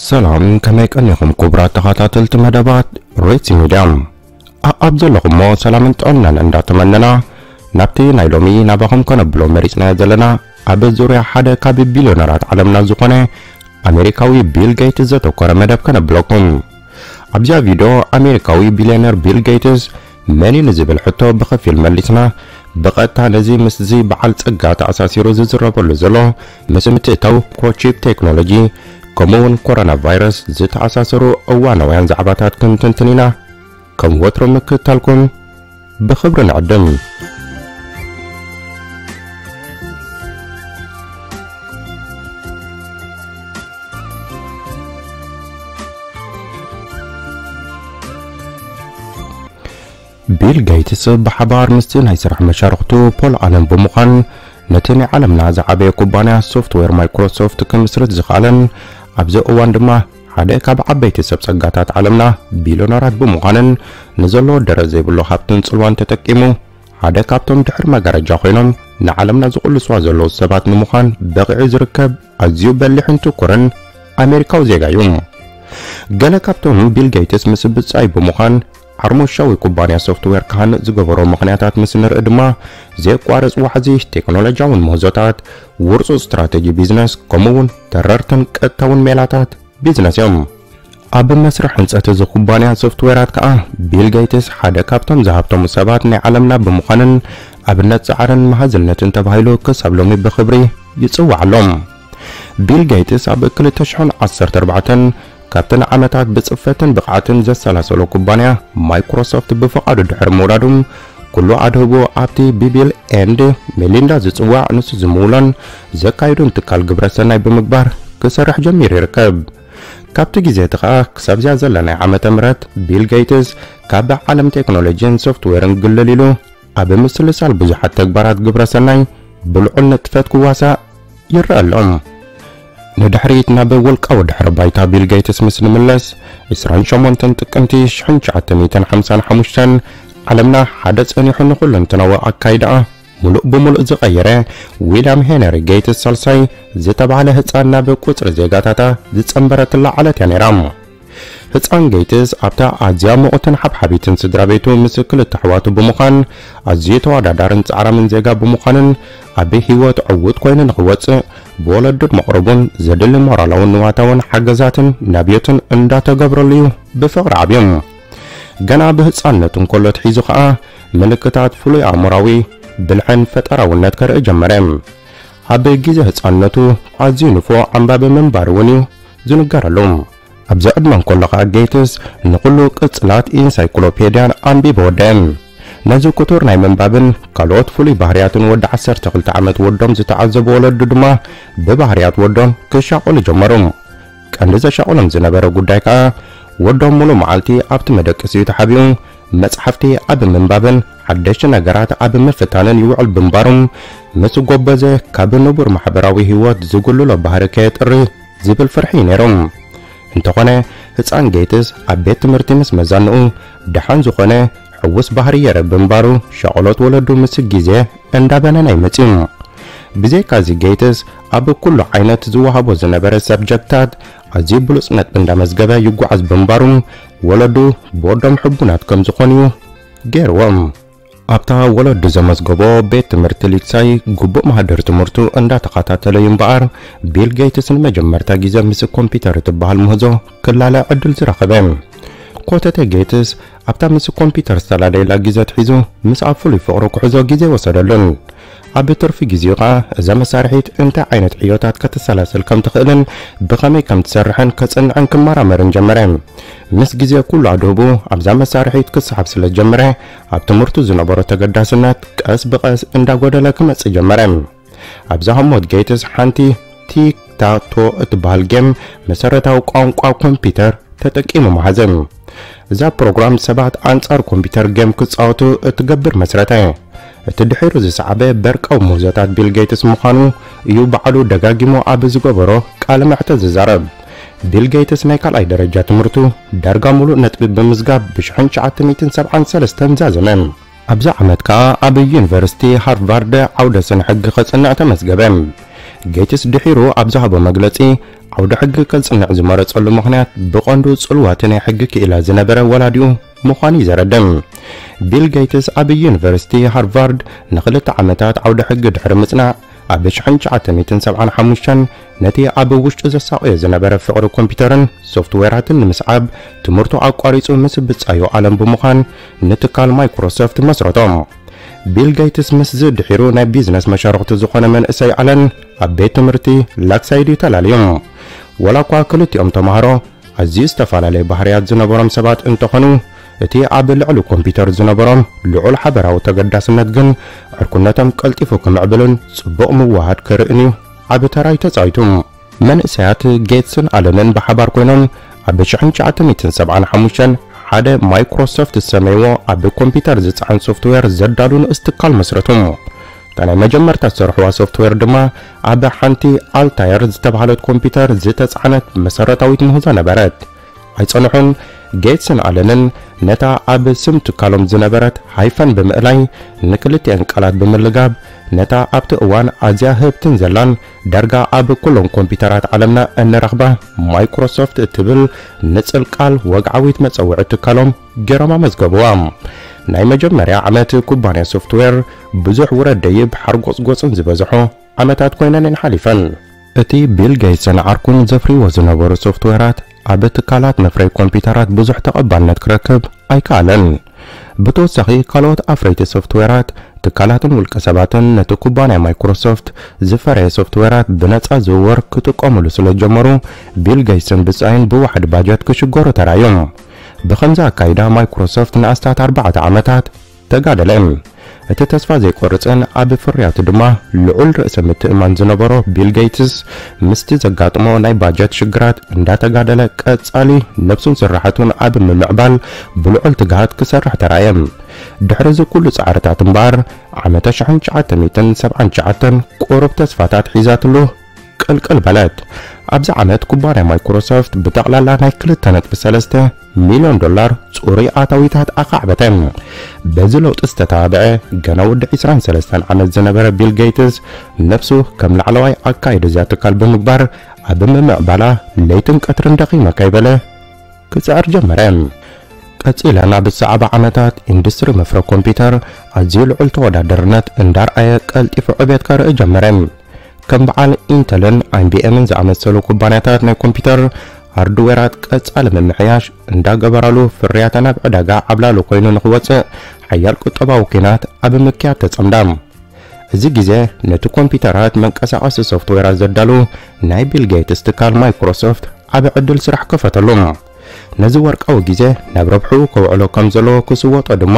ሰላም፣ ከመይ ቀኒኹም ክቡራት ተኸታተልቲ መደባት ሬትሲ ሚድያ? ኣኣብ ዘለኹሞ ሰላምን ጥዕናን እንዳተመነና፣ ናብቲ ናይ ሎሚ ናባኹም ከነብሎ መሪጽናዮ ዘለና፣ ኣብ ዙርያ ሓደ ካብ ቢልዮነራት ዓለምና ዝኾነ ኣሜሪካዊ ቢል ጌትስ ዘተኮረ መደብ ከነብለኩም። ኣብዚኣ ቪድዮ፣ ኣሜሪካዊ ቢልዮነር ቢል ጌትስ መን እዩ ንዝብል ሕቶ ብኸፊል መሊስና፣ ብቐጥታ ነዚ ምስዚ በዓል ጸጋ ተኣሳሲሩ ዝዝረበሉ ዘሎ፣ ምስ ምትእታው ኮቺፕ ቴክኖሎጂ፣ ከምኡ እውን ኮሮና ቫይረስ ዝተኣሳሰሩ እዋናውያን ዛዕባታት ክንትንትን ኢና። ከም ወትሮ ምክትታልኩም ብኽብሪ ንዕድም። ቢል ጌትስ ብሓባር ምስቲ ናይ ስራሕ መሻርኽቱ ፖል ኣለን ብምዃን፣ ነቲ ናይ ዓለምና ዝዓበየ ኩባንያ ሶፍትዌር ማይክሮሶፍት ክምስርት ዝኸኣለን፣ ኣብዚ እዋን ድማ ሓደ ካብ ዓበይቲ ሰብ ጸጋታት ዓለምና፣ ቢልዮነራት ብምዃንን ንዘለዎ ደረት ዘይብሉ ሃብትን ጽልዋን ተጠቂሙ፣ ሓደ ካብቶም ድሕሪ መጋረጃ ኮይኖም ንዓለምና ዝቕልስዋ ዘለዉ ሰባት ንምዃን በቒዑ ዝርከብ ኣዝዩ በሊሕን ትኩርን ኣሜሪካዊ ዜጋ እዩ። ገለ ካብቶም ቢል ጌትስ ምስ ብጻይ ብምዃን ዓርሞሻዊ ኩባንያ ሶፍትዌር ክሃንጽ ዝገበሮ ምኽንያታት ምስ ንርኢ ድማ፣ ዘየቋርጽ ዋሕዚ ቴክኖሎጂያውን ምህዞታት፣ ውርጹጽ ስትራተጂ ቢዝነስ፣ ከምኡ እውን ተረርትን ቀጥታውን ሜላታት ቢዝነስ እዮም። ኣብ መስርሕ ህንጸት እዚ ኩባንያ ሶፍትዌራት ከኣ ቢል ጌትስ ሓደ ካብቶም ዝሃብተሙ ሰባት ናይ ዓለምና ብምዃንን ኣብነት ጻዕርን መሃዝነትን ተባሂሉ ክሳብ ሎሚ ብኽብሪ ይጽዋዕ ኣሎ። ቢል ጌትስ ኣብ ክልተ ሽሕን ዓሰርተ ኣርባዕተን ካብተን ዓመታት ብጽፈትን ብቕዓትን ዘሰላሰሎ ኩባንያ ማይክሮሶፍት ብፍቓዱ ድሕሪ ምውራዱ፣ ኩሉ ኣድህቦ ኣብቲ ብቢል ኤንድ ሜሊንዳ ዝጽዋዕ ንሱ ዝምውሎን ዘካይዶን ትካል ግብረ ሰናይ ብምግባር ክሰርሕ ጀሚሩ ይርከብ። ካብቲ ግዜ እቲ ኸኣ ክሳብ እዚኣ ዘለናይ ዓመተ ምህረት ቢል ጌትስ ካብ ዓለም ቴክኖሎጂን ሶፍትዌርን ግልል ኢሉ ኣብ ምስልሳል ብዙሓት ተግባራት ግብረ ሰናይ ብልዑል ንጥፈት ክዋሳእ ይረአ ኣሎ። ንድሕሪት ናብ ውልቃዊ ድሕረ ባይታ ቢል ጌትስ ምስ ንምለስ፣ ዕስራን ሸሞንተን ጥቅምቲ ሽሕን ትሽዓተ ሚእትን ሓምሳን ሓሙሽተን ዓለምና ሓደ ጸኒሑ ንኹለንተናዊ ኣካይዳኣ ምሉእ ብምሉእ ዝቐየረ ዊልያም ሄነሪ ጌትስ ሳልሳይ ዝተባህለ ህጻን ናብ ቁጽሪ ዜጋታታ ዝጸንበረትላ ዕለት እያ ነይራ። ህጻን ጌትስ ኣብታ ኣዝያ ምቑትን ሓብሓቢትን ስድራ ቤቱ ምስ ክልተ ኣሕዋቱ ብምዃን ኣዝዩ ተወዳዳርን ጻዕራምን ዜጋ ብምዃንን ኣብ ህይወት ዕዉት ኮይኑ ንኽወጽእ ብወለዱን መቕረቡን ዘድሊ ሞራላውን ንዋታውን ሓገዛትን ናብዮትን እንዳተገብረሉ እዩ ብፍቕሪ ዓብዩ። ገና ብህጻንነቱ እንከሎ ኣትሒዙ ኸኣ ምልክታት ፍሉይ ኣእምራዊ ብልሕን ፈጠራውነት ከርኢ ጀመረ። ኣብ ግዜ ህጻንነቱ ኣዝዩ ንፉዕ ኣንባቢ ምንባር እውን እዩ ዝንገረሉ። ኣብዚ ዕድመ እንከሎ ኸኣ ጌትስ ንኹሉ ቅጽላት ኢንሳይክሎፔድያን ኣንቢቡ ወደአ። ነዚ ክቱር ናይ ምንባብን ካልኦት ፍሉይ ባህርያትን ወዲ ዓሰርተ ክልተ ዓመት ወዶም ዝተዓዘቡ ወለዱ ድማ ብባህርያት ወዶም ክሻቐሉ ጀመሩ። ቀንዲ ዘሻቕሎም ዝነበረ ጉዳይ ከኣ ወዶም ሙሉእ መዓልቲ ኣብቲ መደቀሲኡ ተሓቢኡ መጽሓፍቲ ኣብ ምንባብን ሓደሽቲ ነገራት ኣብ ምፍታንን ይውዕል ብምንባሩ፣ ምስ ጎበዘ ካብ ንቡር ማሕበራዊ ህይወት ዝጉልሎ ባህሪ ከየጥሪ ዝብል ፍርሒ እዩ ነይሩ። እንተኾነ ህጻን ጌትስ ኣብ ቤት ትምህርቲ ምስ መዛንኡ ደሓን ዝኾነ ሕውስ ባህሪ የርኢ ብምንባሩ ሻቕሎት ወለዱ ምስ ግዜ እንዳበነነ እዩ መጺኡ። ብዘይካዚ ጌትስ ኣብ ኩሉ ዓይነት ዝወሃቦ ዝነበረ ሰብጀክታት ኣዝዩ ብሉጽ ነጥቢ እንዳመዝገበ ይጓዓዝ ብምንባሩ ወለዱ ብወዶም ሕቡናት ከም ዝኾኑ እዩ ገይርዎም። ኣብታ ወለዱ ዘመዝገቦ ቤት ትምህርቲ ሊክሳይ ግቡእ ማህደር ትምህርቱ እንዳተኸታተለ እዩ እምበኣር፣ ቢል ጌትስ ንመጀመርታ ግዜ ምስ ኮምፒውተር እትበሃል ምህዞ ክላለ ዕድል ዝረኸበ። ኮተተ ጌትስ ኣብታ ምስ ኮምፒውተር ዝተላለየላ ግዜ ኣትሒዙ ምስኣ ፍሉይ ፍቕሪ ክሕዞ ግዜ ወሰደሉን። ኣብ ትርፊ ግዜኡ ኸኣ እዛ መሳርሒት እንታይ ዓይነት ዕዮታት ከተሰላስል ከም ትኽእልን ብኸመይ ከም ትሰርሕን ከጽንዕን ክመራመርን ጀመረ። ምስ ግዜ ኩሉ ኣድህቡ ኣብዛ መሳርሒት ክሰሓብ ስለ ዝጀመረ፣ ኣብ ትምህርቱ ዝነበሮ ተገዳስነት ቀስ ብቐስ እንዳጎደለ ክመጽእ ጀመረ። ኣብዛ ህሞት ጌትስ ሓንቲ ቲክታቶ እትበሃል ጌም መሰረታዊ ቋንቋ ኮምፒውተር ተጠቂሙ መሃዘ። እዛ ፕሮግራም ሰባት ኣንጻር ኮምፒውተር ጌም ክጻወቱ እትገብር መስረተ። እቲ ድሒሩ ዝሰዓበ በርቃዊ ምህዞታት ቢል ጌትስ ምዃኑ እዩ ባዕሉ ደጋጊሙ ኣብ ዝገበሮ ቃለ መሕትት ዝዛረብ። ቢል ጌትስ ናይ ካልኣይ ደረጃ ትምህርቱ ዳርጋ ሙሉእ ነጥቢ ብምዝጋብ ብሽሕን ትሽዓተ ሚእትን ሰብዓን ሰለስተን ዛዘመ። ኣብዚ ዓመት ከኣ ኣብ ዩኒቨርሲቲ ሃርቫርድ ዓውደ ስነ ሕጊ ከጽንዕ ተመዝገበ። ጌትስ ድሒሩ ኣብ ዝሃቦ መግለጺ፣ ዓውደ ሕጊ ከጽንዕ ዝመረጸሉ ምኽንያት ብቐንዱ ጽልዋቲ ናይ ሕጊ ክኢላ ዝነበረ ወላዲኡ ምዃኑ እዩ ዘረድእ። ቢል ጌትስ ኣብ ዩኒቨርሲቲ ሃርቫርድ ንኽልተ ዓመታት ዓውደ ሕጊ ድሕሪ ምጽናዕ፣ ኣብ ሽሕን ትሽዓተ ሚእትን ሰብዓን ሓሙሽተን ነቲ ኣብ ውሽጡ ዘሳቕዮ ዝነበረ ፍቕሪ ኮምፒውተርን ሶፍትዌራትን ንምስዓብ ትምህርቱ ኣቋሪጹ ምስ ብጻዩ ኣለን ብምዃን ንትካል ማይክሮሶፍት መስረቶ። ቢል ጌትስ ምስዚ ድሒሩ ናይ ቢዝነስ መሻርኽቱ ዝኾነ መንእሰይ ኣለን ኣብ ቤት ትምህርቲ ላክሳይድ እዩ ተላልዮም። ወላ እኳ ክልቲኦም ተማሃሮ ኣዝዩ ዝተፈላለየ ባህርያት ዝነበሮም ሰባት እንተኾኑ፣ እቲ ኣብ ልዕሊ ኮምፒውተር ዝነበሮም ልዑል ሓበራዊ ተገዳስነት ግን ዕርኩነቶም ቀልጢፉ ክምዕብልን ጽቡቕ ምውሃድ ክርእን እዩ ዓቢ ተራ እዩ ተጻዊቱ። መንእሰያት ጌትስን ኣለንን ብሓባር ኮይኖም ኣብ ሽሕን ትሽዓተ ሚእትን ሰብዓን ሓሙሽተን ሓደ ማይክሮሶፍት ዝሰመይዎ ኣብ ኮምፒውተር ዝጸዓን ሶፍትዌር ዘዳሉ ንእስ ትካል መስረቱ። እታ ናይ መጀመርታ ዝሰርሕዋ ሶፍትዌር ድማ ኣብ ሓንቲ ኣልታየር ዝተባህለት ኮምፒውተር ዝተጻዕነት መሰረታዊት ምህዞ ነበረት። ኣይጸንሑን፣ ጌትስን ኣለንን ነታ ኣብ ስም ትካሎም ዝነበረት ሃይፈን ብምእላይ፣ ንክልቲኣን ቃላት ብምልጋብ፣ ነታ ኣብቲ እዋን ኣዝያ ህብትን ዘላን ዳርጋ ኣብ ኩሎም ኮምፒውተራት ዓለምና እንረኽባ ማይክሮሶፍት እትብል ንጽል ቃል ወግዓዊት መጸውዒ ትካሎም ገይሮም ኣመዝገቡዋ። ናይ መጀመርያ ዓመት ኩባንያ ሶፍትዌር ብዙሕ ውረድ ደይብ ሓርጎጽጎጽን ዝበዝሖ ዓመታት ኮይነን እየን ሓሊፈን። እቲ ቢል ጌትስን ዓርኩን ዘፍርይዎ ዝነበሩ ሶፍትዌራት ኣብ ትካላት መፍረይ ኮምፒውተራት ብዙሕ ተቐባልነት ክረክብ ኣይከኣለን። ብተወሳኺ፣ ካልኦት ኣፍረይቲ ሶፍትዌራት፣ ትካላትን ውልቀ ሰባትን ነቲ ኩባንያ ማይክሮሶፍት ዝፈረየ ሶፍትዌራት ብነጻ ዝውውር ክጥቀሙሉ ስለ ዝጀመሩ፣ ቢል ጌትስን ብጻዩን ብዋሕዲ ባጀት ክሽገሩ ተራእዩ። ብኸምዚ ኣካይዳ፣ ማይክሮሶፍት ንኣስታት ኣርባዕተ ዓመታት ተጋደለ። እቲ ተስፋ ዘይቆርጽን ኣብ ፍርያቱ ድማ ልዑል ርእሰ ምትእማን ዝነበሮ ቢል ጌትስ፣ ምስቲ ዘጋጥሞ ናይ ባጀት ሽግራት እንዳተጋደለ፣ ቀጻሊ ነብሱን ስራሕቱን ኣብ ምምዕባል ብልዑል ትግሃት ክሰርሕ ተራእየ። ድሕሪ እዚ ኩሉ ጻዕርታት እምበኣር፣ ዓመተ ሽሕን ትሽዓተ ሚእትን ሰብዓን ትሽዓተን ቁሩብ ተስፋታት ሒዛትሉ ቅልቅል በለት። ኣብዚ ዓመት ኩባንያ ማይክሮሶፍት ብጠቕላላ ናይ ክልተ ነጥቢ ሰለስተ ሚልዮን ዶላር ጽሩይ ኣታዊታት ኣኻዕበተ። በዚ ለውጢ ዝተተባብዐ፣ ገና ወዲ ዕስራን ሰለስተን ዓመት ዝነበረ ቢል ጌትስ፣ ነብሱ ከም ላዕለዋይ ኣካይዲ እዛ ትካል ብምግባር፣ ኣብ ምምዕባላ ለይትን ቀትርን ደኺመ ከይበለ ክጽዕር ጀመረ። ቀጺለን ኣብ ዝሰዓባ ዓመታት፣ ኢንዱስትሪ መፍረ ኮምፒውተር ኣዝዩ ልዑል ተወዳደርነት እንዳርኣየ፣ ቀልጢፉ ዕቤት ከርኢ ጀመረ። ከም በዓል ኢንተልን ኣይቢኤምን ዝኣመሰሉ ኩባንያታት ናይ ኮምፒውተር ሃርድዌራት ቀጻሊ ምምሕያሽ እንዳገበራሉ፣ ፍርያተን ኣብ ዕዳጋ ዓብላሊ ኮይኑ ንኽወጽእ ሓያል ቁጠባዊ ኲናት ኣብ ምክያድ ተጸምዳ። እዚ ግዜ ነቲ ኮምፒውተራት መንቀሳቐሲ ሶፍትዌራት ዘዳሉ ናይ ቢል ጌትስ ትካል ማይክሮሶፍት ዓቢ ዕድል ስራሕ ከፈተሉ። ነዚ ወርቃዊ ግዜ ናብ ረብሕኡ ከውዕሎ ከም ዘለዎ ክስወጦ ድማ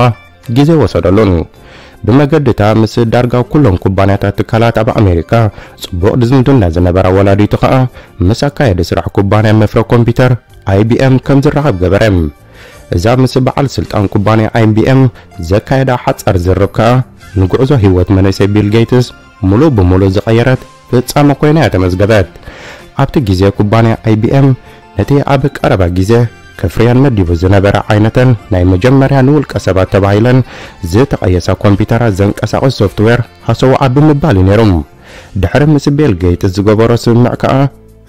ግዜ ወሰደሉን። ብመገድታ ምስ ዳርጋ ኩሎም ኩባንያታት ትካላት ኣብ ኣሜሪካ ጽቡቕ ዝምድና ዝነበራ ወላዲቱ ከኣ ምስ ኣካየዲ ስራሕ ኩባንያ መፍረ ኮምፒውተር ኣይቢኤም ከም ዝራኸብ ገበረ። እዛ ምስ በዓል ስልጣን ኩባንያ ኣይቢኤም ዘካየዳ ሓጻር ዝርርብ ከኣ ንጉዕዞ ህይወት መንእሰይ ቢል ጌትስ ምሉእ ብምሉእ ዝቐየረት ፍጻመ ኮይና እያ ተመዝገበት። ኣብቲ ግዜ ኩባንያ ኣይቢኤም ነቲ ኣብ ቀረባ ግዜ ከፍርያን መዲቡ ዝነበረ ዓይነተን ናይ መጀመርያ ንውልቀ ሰባት ተባሂለን ዝተቐየሳ ኮምፒውተራት ዘንቀሳቕስ ሶፍትዌር ሃሰው ኣብ ብምባል እዩ ነይሩ። ድሕሪ ምስ ቢል ጌትስ ዝገበሮ ስምምዕ ከኣ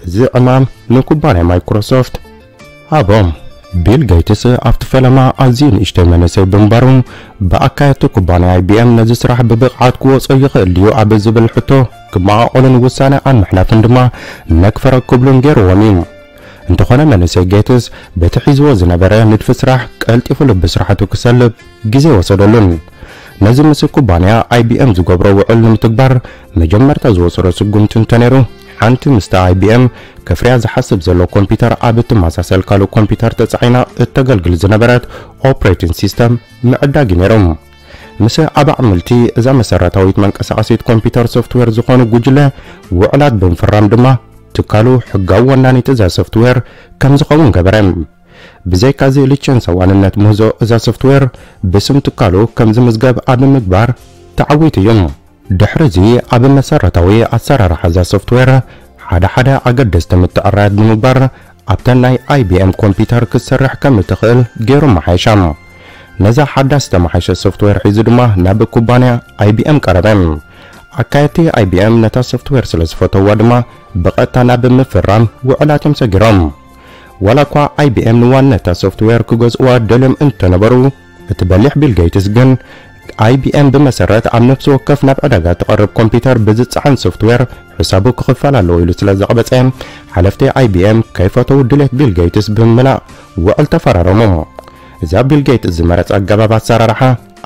እዚ ዕማም ንኩባንያ ማይክሮሶፍት ሃቦም። ቢል ጌትስ ኣብቲ ፈለማ ኣዝዩ ንእሽተይ መንእሰይ ብምንባሩ፣ ብኣካየድቲ ኩባንያ ኣይቢኤም ነዚ ስራሕ ብብቕዓት ክወጾ ይኽእል ድዩ ኣብ ዝብል ሕቶ ክመቓቐሉን ውሳነ ኣብ ምሕላፍን ድማ ነክፈረ ክብሉን ገይርዎም እዩ። እንተኾነ መንእሰይ ጌትስ በቲ ሒዝዎ ዝነበረ ንድፊ ስራሕ ቀልጢፉ ልቢ ስራሕቱ ክሰልብ ግዜ ወሰደሉን። ነዚ ምስ ኩባንያ ኣይቢኤም ዝገብሮ ውዕል ንምትግባር መጀመርታ ዝወሰዶ ስጉምቲ እንተነይሩ፣ ሓንቲ ምስቲ ኣይቢኤም ከፍርያ ዝሓስብ ዘሎ ኮምፒውተር ኣብ እትመሳሰል ካልእ ኮምፒውተር ተጻዒና እተገልግል ዝነበረት ኦፕሬቲንግ ሲስተም ምዕዳግ እዩ ነይሩ። ምስ ኣባዕምልቲ እዛ መሰረታዊት መንቀሳቐሲት ኮምፒውተር ሶፍትዌር ዝኾኑ ጉጅለ ውዕላት ብምፍራም ድማ ትካሉ ሕጋዊ ወናኒት እዛ ሶፍትዌር ከም ዝኸውን ገበረ። ብዘይካዚ ሊቸንሳዊ ዋንነት ምህዞ እዛ ሶፍትዌር ብስም ትካሉ ከም ዝምዝገብ ኣብ ምግባር ተዓዊቱ እዩ። ድሕሪ እዚ ኣብ መሰረታዊ ኣሰራርሓ እዛ ሶፍትዌር ሓደ ሓደ ኣገደስቲ ምትዕራያት ብምግባር ኣብተን ናይ ኣይቢኤም ኮምፒውተር ክትሰርሕ ከም እትኽእል ገይሩ መሓየሻ። ነዛ ሓዳስ ዝተመሓየሸ ሶፍትዌር ሒዙ ድማ ናብ ኩባንያ ኣይቢኤም ቀረበ። ኣካየድቲ ኣይ ቢ ኤም ነታ ሶፍትዌር ስለ ዝፈተውዋ ድማ ብቐጥታ ናብ ምፍራም ውዕላት እዮም ሰጊሮም። ዋላ እኳ ኣይ ቢ ኤም ንዋንነታ ሶፍትዌር ክገዝእዋ ደልዮም እንተነበሩ፣ እቲ በሊሕ ቢል ጌትስ ግን ኣይ ቢ ኤም ብመሰረት ኣብ ነፍሲ ወከፍ ናብ ዕዳጋ ትቐርብ ኮምፒውተር ብዝጸዓን ሶፍትዌር ሕሳቡ ክኽፈል ኣለዎ ኢሉ ስለ ዘቕበጸ፣ ሓለፍቲ ኣይ ቢ ኤም ከይፈተው ድሌት ቢል ጌትስ ብምምላእ ውዕል ተፈራረሙ። እዛ ቢል ጌትስ ዝመረጸ ኣገባብ ኣሰራርሓ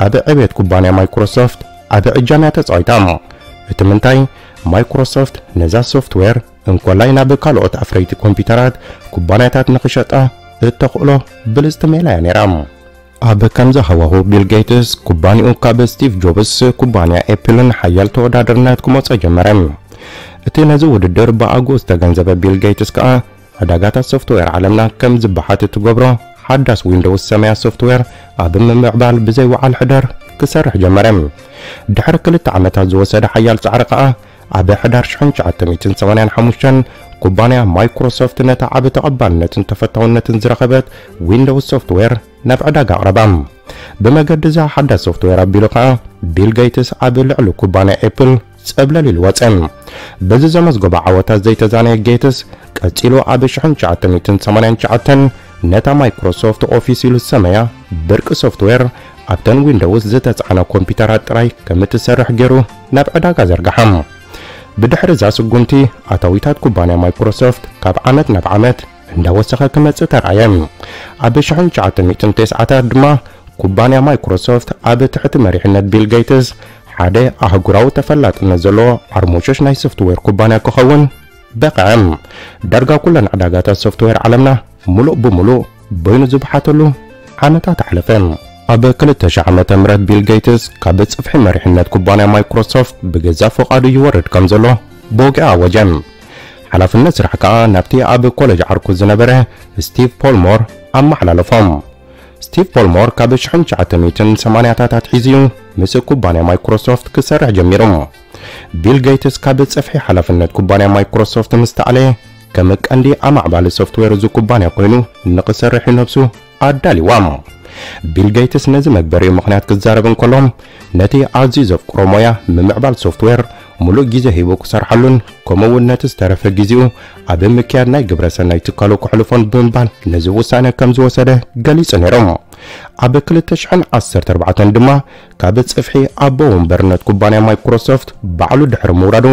ኣብ ዕብየት ኩባንያ ማይክሮሶፍት ዓቢ ዕጃም እያ ተጻዊታ። እቲ ምንታይ፣ ማይክሮሶፍት ነዛ ሶፍትዌር እንኮላይ ናብ ካልኦት ኣፍረይቲ ኮምፒውተራት ኩባንያታት ንኽሸጣ እተኽእሎ ብልጽቲ ሜላ እያ ነይራ። ኣብ ከምዚ ሃዋሁ ቢል ጌትስ ኩባንያኡ ካብ ስቲቭ ጆብስ ኩባንያ ኤፕልን ሓያል ተወዳደርነት ክመጾ ጀመረ። እቲ ነዚ ውድድር ብኣግኡ ዝተገንዘበ ቢል ጌትስ ከኣ ዕዳጋታት ሶፍትዌር ዓለምና ከም ዝበሓት እትገብሮ ሓዳስ ዊንዶውስ ሰማያ ሶፍትዌር ኣብ ምምዕባል ብዘይ ወዓል ሕደር ክሰርሕ ጀመረ። ድሕሪ ክልተ ዓመታት ዝወሰደ ሓያል ጻዕሪ ከኣ ኣብ ሕዳር ሽሕን ትሽዓተ ሚእትን ሰማንያን ሓሙሽተን ኩባንያ ማይክሮሶፍት ነታ ዓቢ ተቐባልነትን ተፈታውነትን ዝረኸበት ዊንዶውስ ሶፍትዌር ናብ ዕዳጋ ኣቕረባ። ብመገዲ እዛ ሓዳስ ሶፍትዌር ኣቢሉ ከኣ ቢል ጌትስ ኣብ ልዕሊ ኩባንያ ኤፕል ጸብለል ኢሉ ወጸ። በዚ ዘመዝገቦ ዓወታት ዘይተዛነየ ጌትስ ቀጺሉ ኣብ ሽሕን ትሽዓተ ሚእትን ሰማንያን ትሽዓተን ነታ ማይክሮሶፍት ኦፊስ ኢሉ ዝሰመያ ብርቂ ሶፍትዌር ኣብተን ዊንዶውስ ዝተጻዕና ኮምፒውተራት ጥራይ ከም እትሰርሕ ገይሩ ናብ ዕዳጋ ዘርግሓ። ብድሕሪ እዛ ስጉምቲ ኣታዊታት ኩባንያ ማይክሮሶፍት ካብ ዓመት ናብ ዓመት እንዳወሰኸ ክመጽእ ተራእየ። ኣብ ሽሕን ትሽዓተ ሚእትን ተስዓታት ድማ ኩባንያ ማይክሮሶፍት ኣብ ትሕቲ መሪሕነት ቢል ጌትስ ሓደ ኣህጉራዊ ተፈላጥነት ዘለዎ ዓርሞሾሽ ናይ ሶፍትዌር ኩባንያ ክኸውን በቕዐ። ዳርጋ ኩለን ዕዳጋታት ሶፍትዌር ዓለምና ምሉእ ብምሉእ በይኑ ዝበሓተሉ ዓመታት ኣሕለፈ። ኣብ ክልተ ሺሕ ዓመተ ምህረት ቢል ጌትስ ካብ ጽፍሒ መሪሕነት ኩባንያ ማይክሮሶፍት ብገዛእ ፍቓዱ ይወርድ ከም ዘሎ ብወግዒ ኣወጀ። ሓላፍነት ስራሕ ከኣ ናብቲ ኣብ ኮሌጅ ዓርኩ ዝነበረ ስቲቭ ፖልሞር ኣመሓላለፎም። ስቲቭ ፖልሞር ካብ ሽሕን ትሽዓተ ሚእትን ሰማንያታት ኣትሒዙ እዩ ምስ ኩባንያ ማይክሮሶፍት ክሰርሕ ጀሚሩ። ቢል ጌትስ ካብ ጽፍሒ ሓላፍነት ኩባንያ ማይክሮሶፍት ምስ ተኣለየ ከም ቀንዲ ኣማዕባሊ ሶፍትዌር እዚ ኩባንያ ኮይኑ ንኽሰርሕ እዩ ነብሱ ኣዳልይዋ። ቢል ጌትስ ነዚ መግበሪኡ ምኽንያት ክዛረብ እንከሎ፣ ነቲ ኣዝዩ ዘፍቅሮ ሞያ ምምዕባል ሶፍትዌር ሙሉእ ግዜ ሂቡ ክሰርሓሉን ከምኡ እውን ነቲ ዝተረፈ ግዜኡ ኣብ ምክያድ ናይ ግብረ ሰናይ ትካሉ ከሕልፎን ብምባል ነዚ ውሳነ ከም ዝወሰደ ገሊጹ ነይሩ። ኣብ ክልተ ሽሕን ዓሰርተ ኣርባዕተን ድማ ካብ ጽፍሒ ኣቦ ወንበርነት ኩባንያ ማይክሮሶፍት ባዕሉ ድሕሪ ምውራዱ፣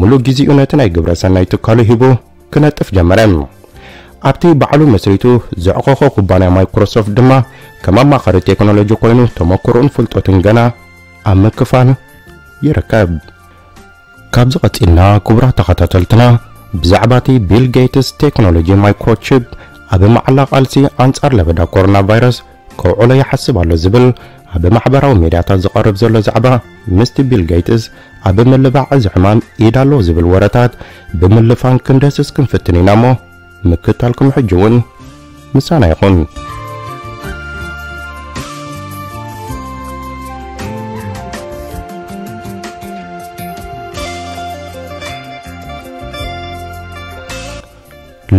ሙሉእ ግዜኡ ነቲ ናይ ግብረ ሰናይ ትካሉ ሂቡ ክነጥፍ ጀመረ። ኣብቲ ባዕሉ መስሪቱ ዘዕቆኾ ኩባንያ ማይክሮሶፍት ድማ ከም ኣማኻሪ ቴክኖሎጂ ኮይኑ ተመክሮኡን ፍልጠቱን ገና ኣብ ምክፋል ይርከብ። ካብዚ ቀጺልና ክቡራት ተኸታተልትና ብዛዕባ እቲ ቢል ጌትስ ቴክኖሎጂ ማይክሮቺፕ ኣብ መዓላ ቃልሲ ኣንጻር ለበዳ ኮሮና ቫይረስ ከውዕሎ ይሓስብ ኣሎ ዝብል ኣብ ማሕበራዊ ሚድያታት ዝቐርብ ዘሎ ዛዕባ ምስቲ ቢል ጌትስ ኣብ ምልባዕ እዚ ሕማም ኢድ ኣለዎ ዝብል ወረታት ብምልፋን ክንደስስ ክንፍትን ኢና እሞ ምክታልኩም ሕጂ እውን ምሳና ይኹን።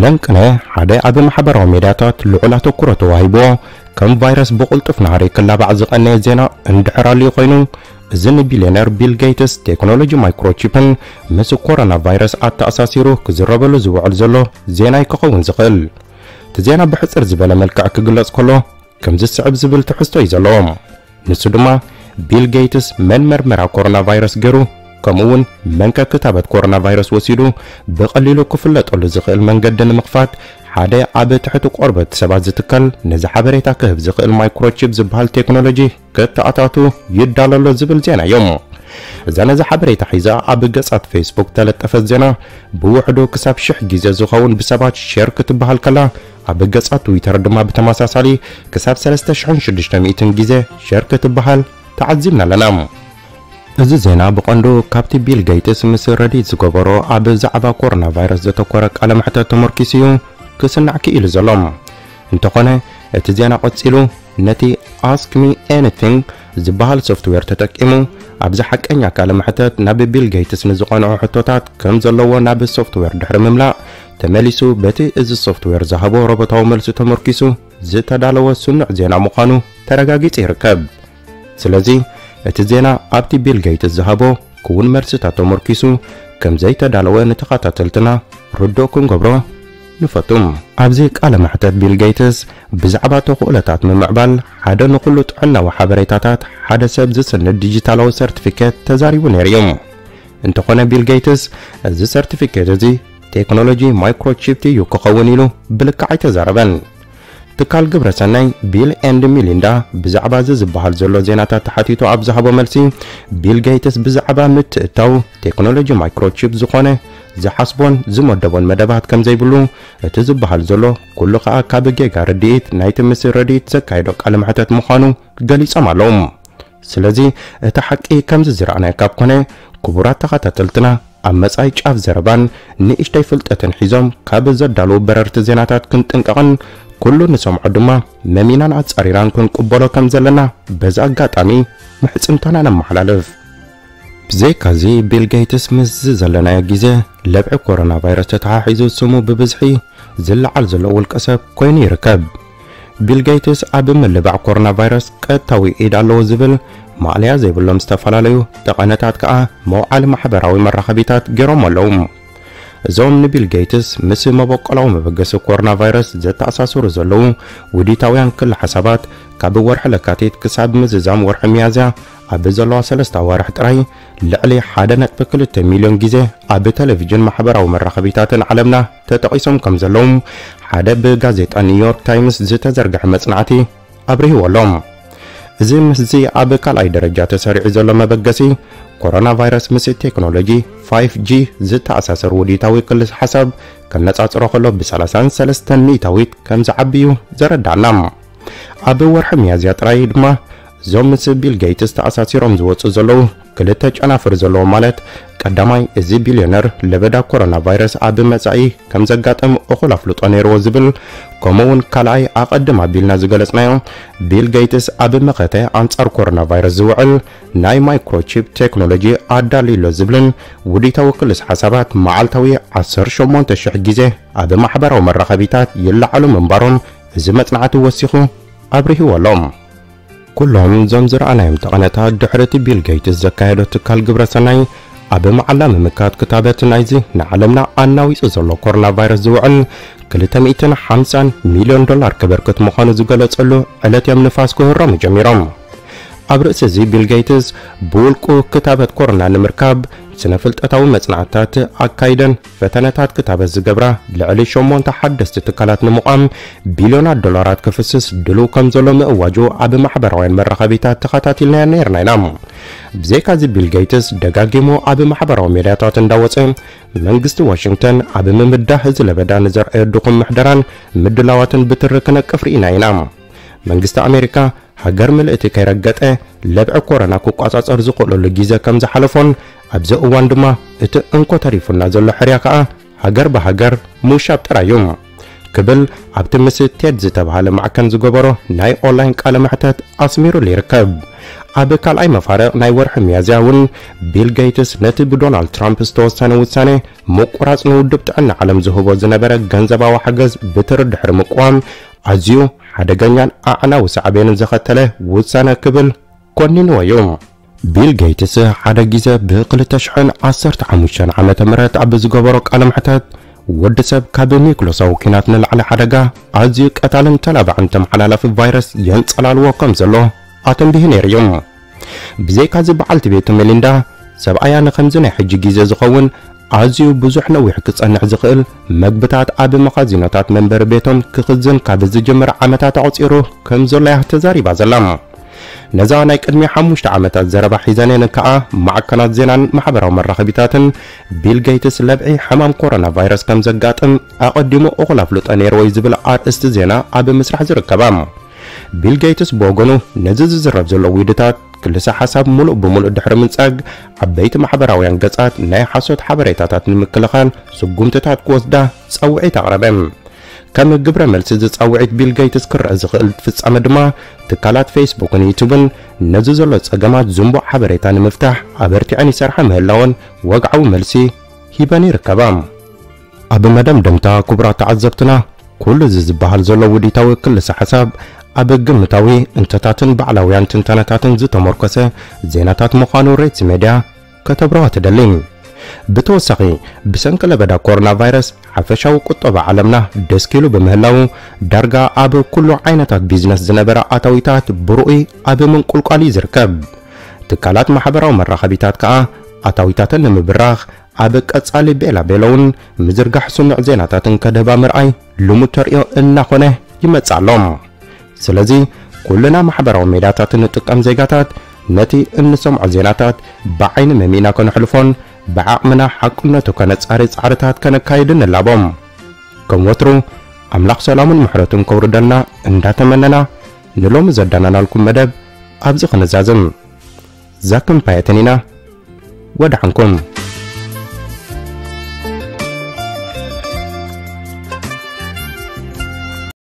ለንቅነ ሓደ ኣብ ማሕበራዊ ሚድያታት ልዑል ኣተኩሮ ተዋሂብዎ ከም ቫይረስ ብቕልጡፍ ናህሪ ክላባዕ ዝቐነየ ዜና እንድሕር ኣልዩ ኮይኑ፣ እዚ ንቢልዮነር ቢል ጌትስ ቴክኖሎጂ ማይክሮቺፕን ምስ ኮሮና ቫይረስ ኣተኣሳሲሩ ክዝረበሉ ዝውዕል ዘሎ ዜና እዩ ክኸውን ዝኽእል። እቲ ዜና ብሕጽር ዝበለ መልክዕ ክግለጽ ከሎ፣ ከምዚ ዝስዕብ ዝብል ትሕዝቶ እዩ ዘለዎ። ንሱ ድማ ቢል ጌትስ መን መርመራ ኮሮና ቫይረስ ገይሩ፣ ከምኡ እውን መንከ ክታበት ኮሮና ቫይረስ ወሲዱ ብቐሊሉ ክፍለጠሉ ዝኽእል መንገዲ ንምኽፋት ሓደ ኣብ ትሕቲ ቆርበት ሰባት ዝትከል ነዚ ሓበሬታ ክህብ ዝኽእል ማይክሮቺፕ ዝበሃል ቴክኖሎጂ ከተኣታቱ ይዳሎ ኣሎ ዝብል ዜና እዩ። እዛ ነዚ ሓበሬታ ሒዛ ኣብ ገጻት ፌስቡክ ተለጠፈት ዜና ብውሕዱ ክሳብ ሽሕ ግዜ ዝኸውን ብሰባት ሸር ክትበሃል ከላ፣ ኣብ ገጻት ትዊተር ድማ ብተመሳሳሊ ክሳብ ሰለስተ ሽሕን ሽዱሽተ ሚእትን ግዜ ሸር ክትበሃል ተዓዚብና ኣለና። እዚ ዜና ብቐንዱ ካብቲ ቢል ጌትስ ምስ ረዲት ዝገበሮ ኣብ ዛዕባ ኮሮና ቫይረስ ዘተኮረ ቃለ መሕተት ተመርኪሱ እዩ ክስናዕ ክኢሉ ዘሎ። እንተኾነ፣ እቲ ዜና ቀጺሉ ነቲ ኣስክ ሚ ኤኒቲንግ ዝበሃል ሶፍትዌር ተጠቂሙ ኣብዚ ሓቀኛ ቃለ መሕተት ናብ ቢል ጌትስ ንዝቐንዑ ሕቶታት ከም ዘለዎ ናብ ሶፍትዌር ድሕሪ ምምላእ ተመሊሱ በቲ እዚ ሶፍትዌር ዝሃቦ ሮቦታዊ መልሲ ተመርኪሱ ዝተዳለወ ስኑዕ ዜና ምዃኑ ተረጋጊጹ ይርከብ። ስለዚ እቲ ዜና ኣብቲ ቢል ጌትስ ዝሃቦ ክውን መልስታት ተመርኪሱ ከም ዘይተዳለወ ንተኸታተልትና ርዱእ ክንገብሮ ንፈቱ። ኣብዚ ቃለ መሕተት ቢል ጌትስ ብዛዕባ ተኽእሎታት ምምዕባል ሓደ ንኹሉ ጥዕናዊ ሓበሬታታት ሓደ ሰብ ዝስንድ ዲጂታላዊ ሰርቲፊኬት ተዛሪቡ ነይሩ እዩ። እንተኾነ ቢል ጌትስ እዚ ሰርቲፊኬት እዚ ቴክኖሎጂ ማይክሮቺፕ እዩ ክኸውን ኢሉ ብልክዕ ኣይተዛረበን። ትካል ግብረ ሰናይ ቢል ኤንድ ሚሊንዳ ብዛዕባ እዚ ዝበሃል ዘሎ ዜናታት ተሓቲቱ ኣብ ዝሃቦ መልሲ፣ ቢል ጌትስ ብዛዕባ ምትእትታው ቴክኖሎጂ ማይክሮቺፕ ዝኾነ ዝሓስቦን ዝመደቦን መደባት ከም ዘይብሉ፣ እቲ ዝበሃል ዘሎ ኩሉ ከኣ ካብ ጌጋ ርድኢት ናይቲ ምስ ረድኢት ዘካየዶ ቃለ መሕተት ምዃኑ ገሊጾም ኣለዉ። ስለዚ እቲ ሓቂ ከምዚ ዝረኣናዮ ካብ ኮነ፣ ክቡራት ተኸታተልትና ኣብ መጻኢ ጫፍ ዘረባን ንእሽተይ ፍልጠትን ሒዞም ካብ ዘዳለዉ በረርቲ ዜናታት ክንጥንቀቕን ኩሉ ንሰምዖ ድማ መሚናን ኣጻሪራን ክንቅበሎ ከም ዘለና በዚ ኣጋጣሚ ምሕጽንታና ነመሓላልፍ። ብዘይካዚ ቢል ጌትስ ምስዚ ዘለናዮ ግዜ ለብዒ ኮሮና ቫይረስ ተተሓሒዙ ስሙ ብብዝሒ ዝለዓል ዘሎ ውልቀ ሰብ ኮይኑ ይርከብ። ቢል ጌትስ ኣብ ምልባዕ ኮሮና ቫይረስ ቀጥታዊ ኢድ ኣለዎ ዝብል ማእለያ ዘይብሎም ዝተፈላለዩ ጠቐነታት ከኣ መውዓሊ ማሕበራዊ መራኸቢታት ገይሮም ኣለዉ። እዞም ንቢል ጌትስ ምስ መበቆላዊ መበገሲ ኮሮና ቫይረስ ዘተኣሳስሩ ዘለዉ ውዲታውያን ክሊ ሓሳባት ካብ ወርሒ ለካቲት ክሳብ ምዝዛም ወርሒ ሚያዝያ ኣብ ዘለዋ ሰለስተ ኣዋርሕ ጥራይ ልዕሊ ሓደ ነጥቢ ክልተ ሚልዮን ግዜ ኣብ ቴሌቪዥን ማሕበራዊ መራኸቢታትን ዓለምና ተጠቒሶም ከም ዘለዉ ሓደ ብጋዜጣ ኒውዮርክ ታይምስ ዝተዘርግሐ መጽናዕቲ ኣብሪህዎ ኣሎ። እዚ ምስዚ ኣብ ካልኣይ ደረጃ ተሰሪዑ ዘሎ መበገሲ ኮሮና ቫይረስ ምስ ቴክኖሎጂ ፋይፍ ጂ ዝተኣሳሰር ውዲታዊ ክልስ ሓሳብ ከነጻጽሮ ከሎ ብ ሰላሳን ሰለስተን ሚእታዊት ከም ዝዓቢ እዩ ዘረዳእና። ኣብ ወርሒ ሚያዝያ ጥራይ ድማ እዞም ምስ ቢል ጌትስ ተኣሳሲሮም ዝወጹ ዘለዉ ክልተ ጨናፍር ዘለዎ ማለት ቀዳማይ እዚ ቢልዮነር ለበዳ ኮሮና ቫይረስ ኣብ መጻኢ ከም ዘጋጥም እኹል ኣፍልጦ ነይርዎ ዝብል ከምኡ እውን ካልኣይ ኣቐድም ኣቢልና ዝገለጽናዮ ቢል ጌትስ ኣብ መኸተ ኣንጻር ኮሮና ቫይረስ ዝውዕል ናይ ማይክሮቺፕ ቴክኖሎጂ ኣዳልዩ ኣሎ ዝብልን ውዲታዊ ክልስ ሓሳባት መዓልታዊ ዓሰርተ ሸሞንተ ሽሕ ግዜ ኣብ ማሕበራዊ መራኸቢታት ይለዓሉ ምንባሮም እዚ መጽናዕቲ ወሲኹ ኣብሪህዎ ኣሎ። ኩሎም እዞም ዝረኣናዮም ጠቐነታት ድሕሪ እቲ ቢል ጌትስ ዘካየዶ ትካል ግብረ ሰናይ ኣብ መዓላ ምምካት ክታበት ናይዚ ንዓለምና ኣናዊጹ ዘሎ ኮሮና ቫይረስ ዝውዕል ክልተ ሚእትን ሓምሳን ሚልዮን ዶላር ከበርክት ምዃኑ ዝገለጸሉ ዕለት እዮም ንፋስ ክህረሙ ጀሚሮም። ኣብ ርእሲ እዚ ቢል ጌትስ ብውልቁ ክታበት ኮሮና ንምርካብ ስነ ፍልጠታዊ መጽናዕትታት ኣካይደን ፈተነታት ክታበት ዝገብራ ልዕሊ ሸሞንተ ሓደስቲ ትካላት ንምቋም ቢልዮናት ዶላራት ክፍስስ ድሉው ከም ዘሎ ምእዋጁ ኣብ ማሕበራውያን መራኸቢታት ተኸታቲልናዮ ነይርና ኢና። ብዘይካዚ ቢል ጌትስ ደጋጊሙ ኣብ ማሕበራዊ ሚድያታት እንዳወጸ መንግስቲ ዋሽንግተን ኣብ ምምዳህ እዚ ለበዳ ንዘርኣዮ ድኹም ምሕደራን ምድላዋትን ብትሪ ክነቅፍ ርኢና ኢና። መንግስቲ ኣሜሪካ ሃገር ምልእቲ ከይረገጠ ለብዒ ኮሮና ክቋጻጸር ዝኽእለሉ ግዜ ከም ዝሓለፎን ኣብዚ እዋን ድማ እቲ እንኮ ተሪፉና ዘሎ ሕርያ ከኣ ሃገር ብሃገር ምውሻብ ጥራይ እዩ ክብል ኣብቲ ምስ ቴድ ዝተባህለ ማዕከን ዝገበሮ ናይ ኦንላይን ቃለ መሕተት ኣስሚሩሉ ይርከብ። ኣብ ካልኣይ መፋርቕ ናይ ወርሒ ሚያዝያ እውን ቢል ጌትስ ነቲ ብዶናልድ ትራምፕ ዝተወሰነ ውሳነ ምቁራጽ ንውድብ ጥዕና ዓለም ዝህቦ ዝነበረ ገንዘባዊ ሓገዝ ብትሪ ድሕሪ ምቅዋም ኣዝዩ ሓደገኛን ኣዕናዊ ሳዕቤንን ዘኸተለ ውሳነ ክብል ኮኒንዎ እዩ። ቢል ጌትስ ሓደ ግዜ ብ ክልተ ሽሕን ዓሰርተ ሓሙሽተን ዓመተ ምህረት ኣብ ዝገበሮ ቃለ መሕተት ወዲ ሰብ ካብ ኒክሎሳዊ ኲናት ንላዕሊ ሓደጋ ኣዝዩ ቀታልን ተላባዕን ተመሓላላፊ ቫይረስ የንጸላልዎ ከም ዘሎ ኣተንቢሁ ነይሩ እዩ። ብዘይካዚ በዓልቲ ቤቱ ሜሊንዳ ሰብኣያ ንኸምዚ ናይ ሕጂ ግዜ ዝኸውን ኣዝዩ ብዙሕ ነዊሕ ክጸንሕ ዝኽእል መግብታት ኣብ መኻዚኖታት መንበሪ ቤቶም ክኽዝን ካብ ዝጅምር ዓመታት ኣቑጺሩ ከም ዘሎ እያ ተዛሪባ ዘላ። ነዛ ናይ ቅድሚ ሓሙሽተ ዓመታት ዘረባ ሒዘን እየን ከኣ ማዕከናት ዜናን ማሕበራዊ መራኸቢታትን ቢል ጌትስ ለብዒ ሕማም ኮሮና ቫይረስ ከም ዘጋጥም ኣቐዲሙ እኹል ኣፍልጦ ነይርዎ እዩ ዝብል ኣርእስቲ ዜና ኣብ ምስራሕ ዝርከባ። ቢል ጌትስ ብወገኑ ነዚ ዝዝረብ ዘሎ ዊድታት ክልሰ ሓሳብ ሙሉእ ብሙሉእ ድሕሪ ምንጻግ ዓበይቲ ማሕበራውያን ገጻት ናይ ሓሶት ሓበሬታታት ንምክልኻል ስጉምትታት ክወስዳ ጻውዒት ኣቕረበ። ከም ግብረ መልሲ ዝጻውዒት ቢል ጌትስ ክረአ ዝኽእል ፍጻመ ድማ ትካላት ፌስቡክን ዩቱብን ነዚ ዘሎ ጸገማት ዝንቡዕ ሓበሬታ ንምፍታሕ ኣበርቲዐን ይሰርሓ ምህላወን ወግዓዊ መልሲ ሂበን ይርከባ። ኣብ መደምደምታ ክቡራት ተዓዘብትና ኩሉ እዚ ዝበሃል ዘሎ ውዲታዊ ክልሰ ሓሳብ ኣብ ግምታዊ እንተታትን ባዕላውያን ትንተነታትን ዝተመርኮሰ ዜናታት ምዃኑ ሬትስ ሜድያ ከተብርሆ ትደሊ። ብተወሳኺ፣ ብሰንኪ ለበዳ ኮሮና ቫይረስ ሓፈሻዊ ቁጠባ ዓለምና ደስኪሉ ብምህላው፣ ዳርጋ ኣብ ኩሉ ዓይነታት ቢዝነስ ዝነበረ ኣታዊታት ብርኡይ ኣብ ምንቁልቋል እዩ ዝርከብ። ትካላት ማሕበራዊ መራኸቢታት ከኣ ኣታዊታተን ንምብራኽ ኣብ ቀጻሊ ቤላ ቤለውን ምዝርጋሕ ስኑዕ ዜናታትን ከድህባ ምርኣይ ልሙድ ተርእዮ እናኾነ ይመጽእ ኣሎ። ስለዚ ኩልና ማሕበራዊ ሜዳታት እንጥቀም ዜጋታት ነቲ እንሰምዖ ዜናታት ብዓይኒ መሚእና ከነሕልፎን ብዓቕምና ሓቅነቱ ከነጻሪ ጻዕርታት ከነካይድን ንላቦም። ከም ወትሩ ኣምላኽ ሰላሙን ምሕረቱን ከውርደልና እንዳተመነና ንሎሚ ዘዳናናልኩም መደብ ኣብዚ ክንዛዝም። ዛክም ፓየትን ኢና። ወድሓንኩም።